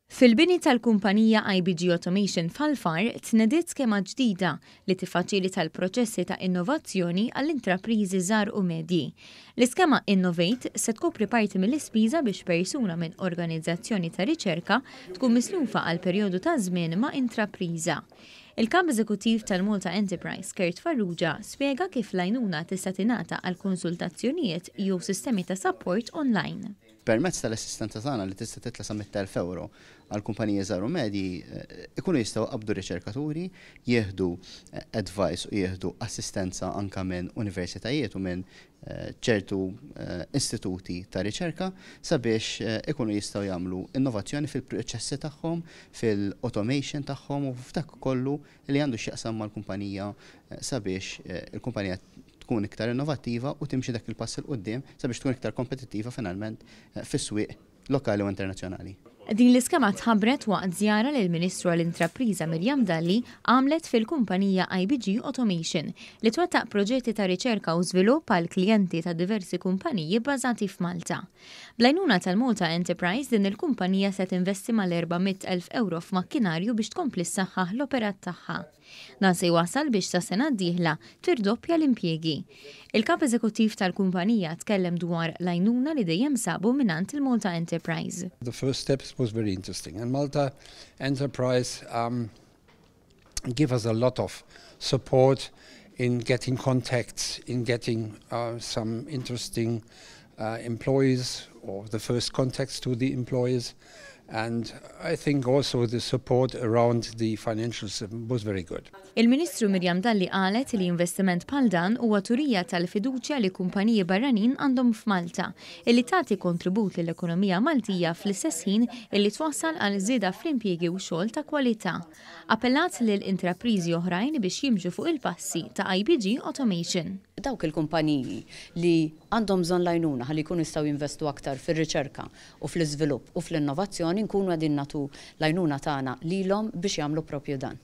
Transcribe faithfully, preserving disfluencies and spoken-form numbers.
Fil-bini tal-kumpanija I B G Automation f'Ħal Far tnediet skema ġdida li tiffaċilita l-proċessi ta' innovazzjoni għall-intrapriżi żgħar u medji. L-iskema Innovate se tkopri parti mill-ispiża biex persuna minn organizzazzjoni ta' riċerka tkun mislufa għal perjodu ta' żmien ma' intrapriża. Il-kap eżekuttiv tal-Malta Enterprise, Kurt Farrugia, spjega kif l-għajnuna tista' tingħata għal konsultazzjonijiet jew sistemi ta' support online. Permezz tal-assistenza tagħna li tista' titla' sa mitt elf euro għal kumpaniji żgħar u medji, eh, ikunu jistgħu qabdu riċerkaturi, jieħdu eh, advice u jieħdu assistenza anka minn universitajiet u minn eh, ċertu istituti ta' riċerka sabiex ikunu jistgħu jagħmlu innovazzjoni fil-proċessi tagħhom, fil-automation tagħhom u f'dak kollu li għandu x'jaqsam mal-kumpanija sabiex il-kumpanija tkun iktar innovattiva u timxi dak il-pass 'il quddiem sabiex tkun iktar kompetittiva finalment eh, fis-swieq lokali u internazzjonali. Din l-iskema tħabbret waqt żjara li l-Ministru għall-Intrapriża Miriam Dalli għamlet fil-kumpanija I B G Automation, li twettaq proġetti ta' riċerka u żvilupp għal klijenti ta' diversi kumpaniji bbażati f'Malta. Bl-għajnuna tal-Malta Enterprise, din il-kumpanija se tinvesti mal-erba' mitt elf euro f'makkinarju biex tkompli ssaħħaħ l-operat tagħha. Dan se jwasal biex sa sena d-dieħla tirdoppja l-impjiegi. Il-kap eżekuttiv tal-kumpanija tkellem dwar l-għajnuna li dejjem sabu mingħand il-Malta Enterprise. The first steps was very interesting, and Malta Enterprise um, give us a lot of support in getting contacts, in getting uh, some interesting uh, employees or the first contacts to the employees. And I think also the support around the financial system was very good. Il-Ministru Miriam Dalli qalet li investiment bħal dan huwa turija tal-fiduċja li kumpaniji barranin għandhom f'Malta, illi tagħti kontribut lill-ekonomija Maltija fl-istess ħin illi twassal għal żieda fl-impjiegi u xogħol ta' kwalità. Appellat lil intrapriżi oħrajn biex jimxu fuq il-passi ta' I B G Automation. Dawk il-kumpaniji li għandhom bżonn l-għajnuna ħalli jkunu jistgħu jinvestu aktar fir-riċerka u fl-iżvilupp u fl-innovazzjoni, nkunu qegħdin nagħtu l-għajnuna tagħna lilhom biex jagħmlu propju dan.